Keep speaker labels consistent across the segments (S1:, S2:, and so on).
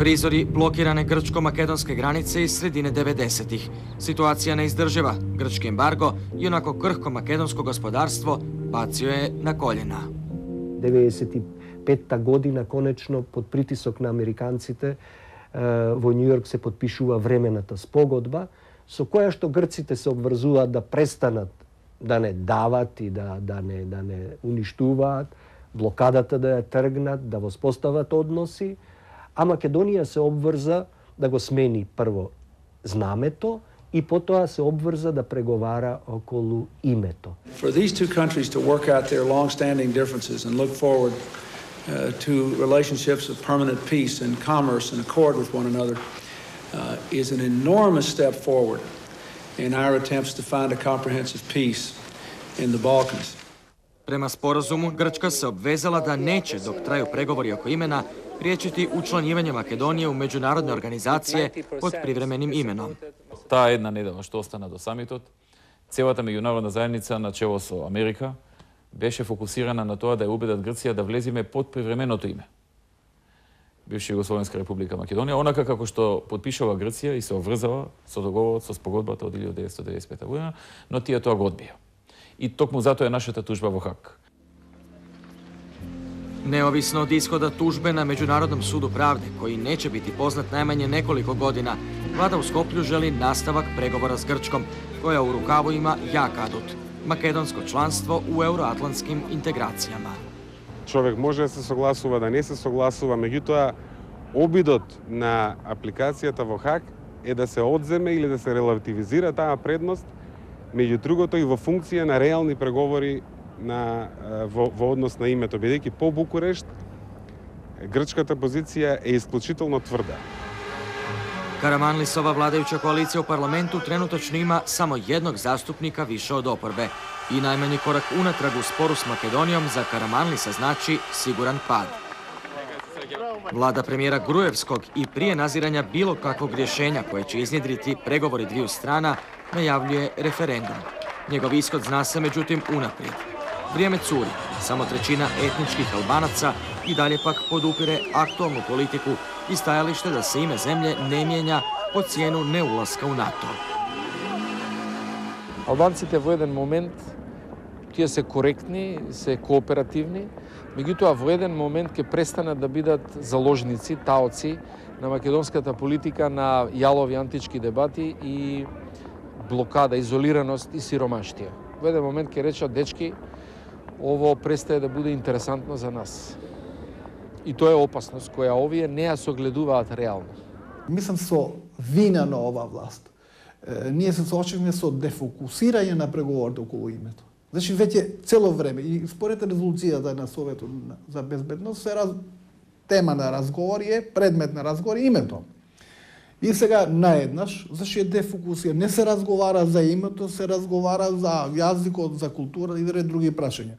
S1: Призори блокиране грчко-македонske границе из средине 90-тих. Ситуација неиздржива. Грчки ембарго и онако крхко македонско господарство бацио е на колена.
S2: 95-та година конечно под притисок на американците во Њујорк се подпишува времената спогодба со која што грците се обврзуваат да престанат да не дават и да не уништуваат, блокадата да ја тргнат, да воспостават односи, а Македонија се обврза да го смени прво знамето и потоа се обврза да преговара околу името.
S3: For these two countries to work out their long-standing differences and look forward to relationships of permanent peace and commerce and accord with one another is an enormous step forward in our attempts to find a comprehensive peace in the Balkans.
S1: Према споразуму, Грчка се обвезала да нече, док трају преговори око имена, пријечити учланивање Македонија у меѓународни организације под привременим именом.
S4: Таа една недела што остана до самитот, целата меѓународна заедница на чело со Америка беше фокусирана на тоа да ја убедат Грција да влеземе под привременото име. Бивша Југословенска република Македонија, онака како што потпишува Грција и се обврзала со договорот со спогодбата од 1995 година, но тие тоа го одбија. И токму затоа е нашата тужба во Хаг.
S1: Неовисно од исхода тужбе на Меѓународном суду правде, кој нече бити познат најмање неколико година, влада у Скопју жели наставак преговора с Грчком, која у рукаво има јак адут – македонско чланство у евроатлантским интеграцијама.
S5: Човек може да се согласува, да не се согласува, меѓутоа обидот на апликацијата во Хаг е да се одземе или да се релативизира таа предност, меѓу другото и во функција на реални преговори во однос на името, бидејќи по Букурешт грчката позиција е исклучително тврда.
S1: Караманлисова владајуча коалиција у парламенту тренуточно има само едног заступника више од опорбе и најмањи корак унатраг у спору с Македонијом за Караманлиса значи сигуран пад. Влада премиера Груевског и прие назирања било каквог решења koje će iznjedriti преговори двiju страна, најављуе референдум. Негов исход зна се меđutim унапред. Вријеме цури, само треćina етничких албанаца и далje pak podupire aktualnu politiku и стајалиште да се име земље не мијења по цијену неуласка у НАТО.
S6: Албанците во еден момент тие се коректни, се кооперативни, меѓутоа во еден момент ќе престанат да бидат заложници, таоци на македонската политика, на јалови антички дебати и блокада, изолираност и сиромаштија. Во еден момент ќе речат, дечки, ово престае да биде интересантно за нас. И тоа е опасност која овие не ја согледуваат реално.
S7: Мислам со вина на ова власт. Ние се соочивме со дефокусирање на преговорите околу името. Значи, веќе цело време, и според резолуцијата на Советот за безбедност, тема на разговори е, предмет на разговори името. И сега наеднаш, зашто е дефокусија, не се разговара за името, се разговара за јазикот, за култура и други прашања.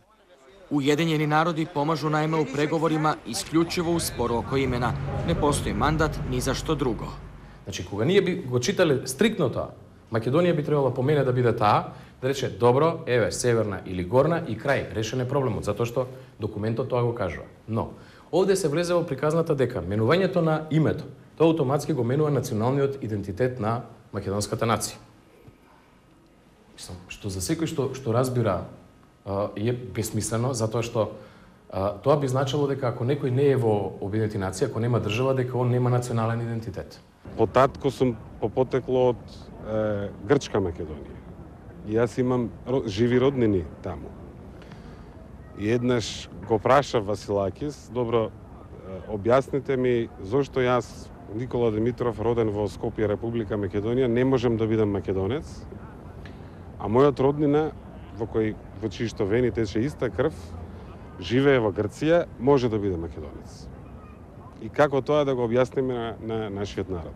S1: Уединjeni народи помажу најме у преговорима исклучиво у спору око имена. Не постои мандат ни за што друго.
S8: Значи, кога ние би го читале стриктно тоа, Македонија би требала по мене да биде таа, да рече, добро, еве, северна или горна и крај, решен е проблемот, затоа што документот тоа го кажува. Но, овде се влезе во приказната дека менувањето на името, тоа автоматски го менува националниот идентитет на македонската нација. Што за секој што разбира е бесмислено, затоа што тоа би значило дека ако некој не е во обиднети нации, ако нема држава, дека он нема национален идентитет.
S5: По татко сум по потекло од Грчка Македонија. И јас имам живи роднини таму. И еднаш го прашав Василакис, добро, објасните ми зошто јас, Никола Димитров, роден во Скопје, Република Македонија, не можем да бидам македонец, а мојот роднина, во чијшто вени тече иста крв, живее во Грција, може да биде македонец. И како тоа да го објасниме на нашиот народ?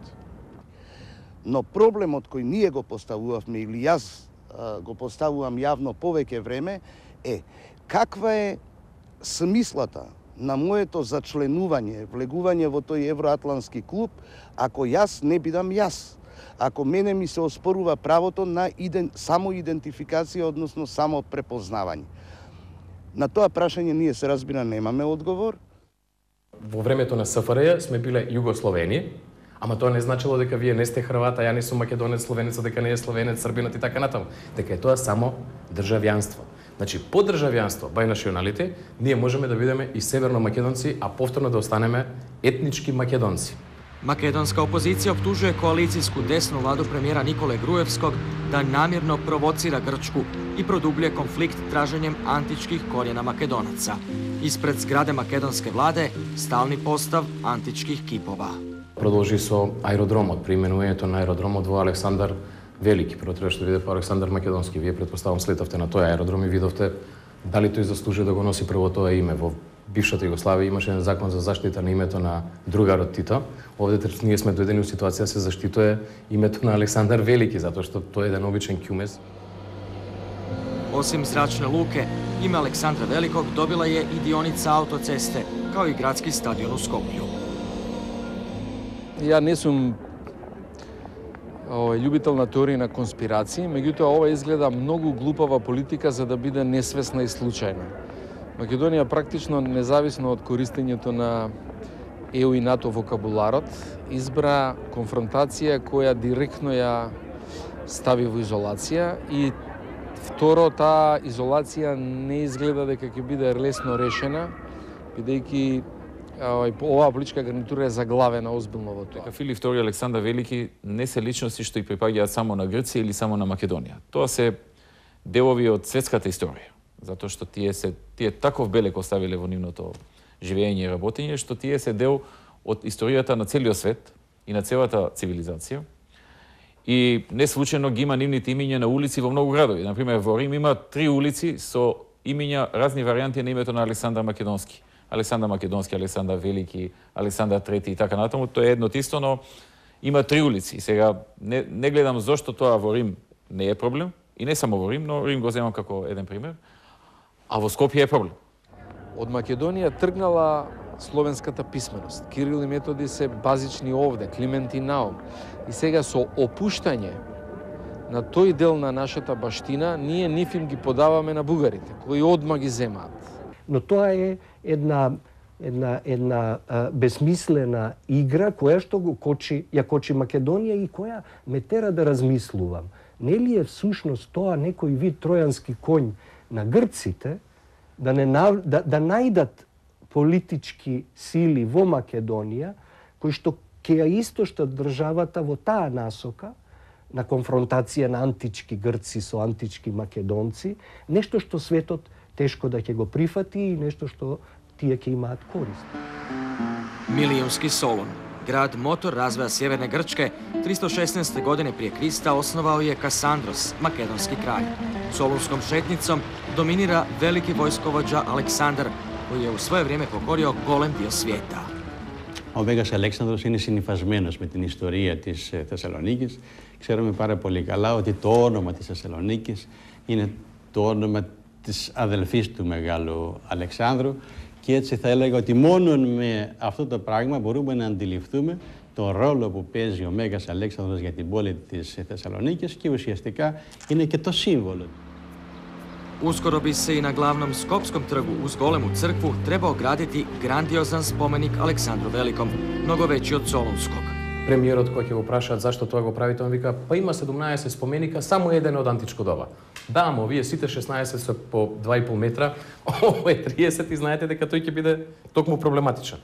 S9: Но проблемот кој ние го поставувавме, или јас го поставувам јавно повеќе време, е каква е смислата на моето зачленување, влегување во тој евроатлантски клуб, ако јас не бидам јас, ако мене ми се оспорува правото на самоидентификација, односно само препознавање. На тоа прашање ние се разбира немаме одговор.
S8: во времето на СФРЈ сме биле Југословени, ама тоа не значило дека вие не сте Хрват, а ја не сум македонец, словенец, дека не е словенец, србинот и така натаму. Дека е тоа само државјанство. Значи, по државјанство, by nationality, ние можеме да бидеме и северно македонци, а повторно да останеме етнички македонци.
S1: Македонска опозиција обтужuje коалицијску десну владу премиера Николе Груевског да намирно провоцира Грчку и продублje конфликт тражењем античких коrijena македонаца. Испред зграде македонске владе стални постав античких кипова.
S8: Продолжи со аеродромот, преименувањето на аеродромот во Александар Велики. Прво требаше да биде по Александар Македонски. Вие предпоставам слетавте на тој аеродром и видовте дали тој заслужува да го носи прво тоа име. Во бившата Југославија имаше еден закон за заштита на името на другарот Тито. Овде ние сме доедени у ситуација да се заштитува името на Александар Велики, затоа што тој е еден обичен кјумез.
S1: Осим зрачне луке, име Александра Великог добила je и дионица аутоцесте, као и градски стадион у Скопју.
S6: Ја не сум љубител на теории на конспирации, меѓутоа ова изгледа многу глупава политика за да биде несвесна и случајна. Македонија практично, независно од користењето на ЕУ и НАТО вокабуларот, избра конфронтација која директно ја стави во изолација и второ, таа изолација не изгледа дека ќе биде лесно решена, бидејќи оваа политичка гарнитура е заглавена озбилно во тоа.
S4: Филип II и Александар Велики не се личности што и припаѓаат само на Грција или само на Македонија. Тоа се делови од светската историја, затоа што тие таков белег оставиле во нивното живење и работење, што тие се дел од историјата на целиот свет и на целата цивилизација. И не случајно ги има нивните имиња на улици во многу градови. Например, во Рим има 3 улици со имиња, разни варијанти на името на Александар Македонски. Александар Македонски, Александар Велики, Александар Трети и така натаму. Тоа е едно тисто, но има 3 улици. И сега не гледам зошто тоа во Рим не е проблем. И не само во Рим, но Рим го земам како еден пример. А во Скопје е проблем.
S6: Од Македонија тргнала словенската писменост. Кирил и Методи се базични овде, Климент и Наум. И сега со опуштање на тој дел на нашата баштина, ние нив им ги подаваме на бугарите, кои одма ги земаат.
S2: Но тоа е една безсмислена игра која што ја кочи Македонија и која ме тера да размислувам. Нели е всушност тоа некој вид тројански конј на грците да најдат политички сили во Македонија кои што ќе ја истоштат државата во таа насока на конфронтација на антички грци со антички македонци, нешто што светот тешко да ќе го прифати и нешто што тие ќе имаат корист.
S1: Милијунски Солун, град мотор развоја Северне Грчке, 316. године прije Криста основао je Касандрос, македонски краљ. Солунском шетницом доминира велики војсковоđа Александар, кој je u svoje vrijeme pokorio golem dio svijeta.
S10: Ο Μέγας Αλέξανδρος είναι συνυφασμένος με την ιστορία της Θεσσαλονίκης. Ξέρουμε πάρα πολύ καλά ότι το όνομα της Θεσσαλονίκης είναι το όνομα της αδελφής του Μεγάλου Αλεξάνδρου και έτσι θα έλεγα ότι μόνο με αυτό το πράγμα μπορούμε να αντιληφθούμε τον ρόλο που παίζει ο Μέγας Αλέξανδρος για την πόλη της Θεσσαλονίκης και ουσιαστικά είναι και το σύμβολο.
S1: Uskoro bi se i na glavnom Skopskom trgu uz golemu crkvu trebao graditi grandiozan spomenik Aleksandru Velikom, mnogo veći od Solunskog.
S8: Премиерот кој ќе го прашаат зашто тоа го правите, он вика, па има 17 споменика, само еден од античко доба. Да, ама овие сите 16 се по 2,5 метра, ово е 30 и знаете дека тој ќе биде токму проблематичен.